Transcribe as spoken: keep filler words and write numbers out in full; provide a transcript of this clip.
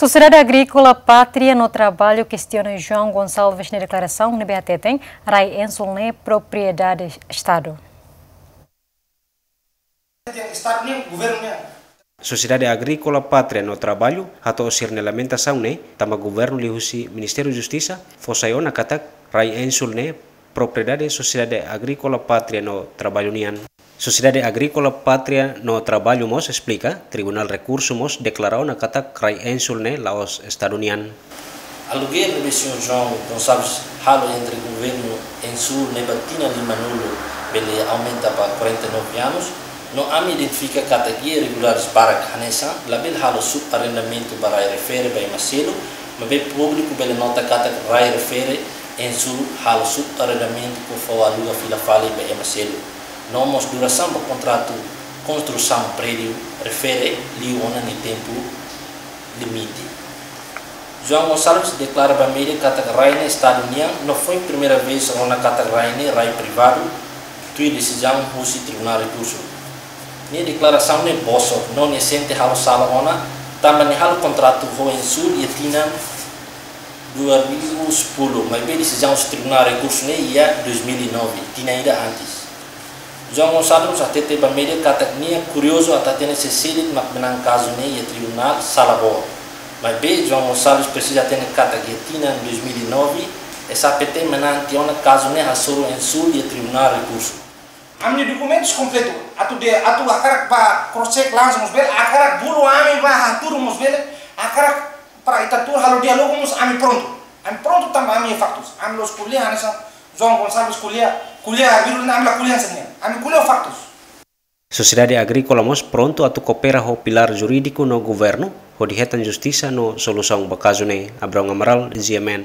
Sosiedade Agríkola Pátria no Trabalho kestiona João Gonçalves nia deklarasaun ne'ebé hateten rai Ensul ne'e propriedade Estadu. Estadu nian, governu nian. Sosiedade Agríkola Pátria no Trabalho hato'o sira-nia lamentasaun ne'e tanba governu liuhusi Ministériu Justisa fó sai ona katak rai Ensul ne'e propriedade Sosiedade Agríkola Pátria no Trabalho nian. Sosiedade Agríkola Pátria no Trabalho mós esplika, Tribunál Rekursu mós deklara ona katak rai Ensul ne'e la'ós Estadu nian. Aluguér ne'ebé señór João Gonçalves halo entre governu Ensul ne'e ba tinan limanulu bele aumenta ba quarenta e nove anos, no ami identifika katak iha irregularidades barak hanesan labele halo subarrendamentu ba rai refere ba ema seluk, maibé públiku bele nota katak rai refere Ensul halo subarrendamentu ka fó aluga fila fali ba ema seluk. No mós durasaun ba kontratu konstrusaun prédiu refere liu ona nia tempu limite. João Gonçalves deklara ba média katak rai ne'e Estadu nian, no foin primeira vez rona katak rai ne'e rai privadu, tuir desizaun husi Tribunál Rekursu. Nia deklarasaun ne'e bosok, no nia sente halo sala ona, tanba nia halo kontratu ho Ensul iha tinan dua ribu sepuluh, maibé desizaun husi Tribunál Rekursu ne'e iha dois mil e nove, tinan ida antes. João Gonçalves hatete ba média katak nia kuriozu atu hatene sé seluk mak manán kazu ne'e iha tribunál sala boot. Maibé João Gonçalves presiza hatene katak iha tinan dois mil e nove, S A P T manán tiha ona kazu ne'e hasoru Ensul iha Tribunál Rekursu. Ami-nia dokumentus kompletu, atu de, atu hakarak ba cross check langsung mós bele, hakarak bolu ami ba hatudu mós bele, hakarak para ita tuur halo diálogu mós ami prontu. Ami prontu tanba ami iha faktus. Ami la'ós ko'alia hanesan João Gonçalves ko'alia, ko'alia virus ne'e ami la ko'alia hanesan ne'e. Ami ko'alia faktus. Sosiedade Agríkola mós prontu atu koopera ho pilár jurídiku no governu, hodi hetan justisa no solusaun ba kazu ne'e. Abraão Amaral, G M N.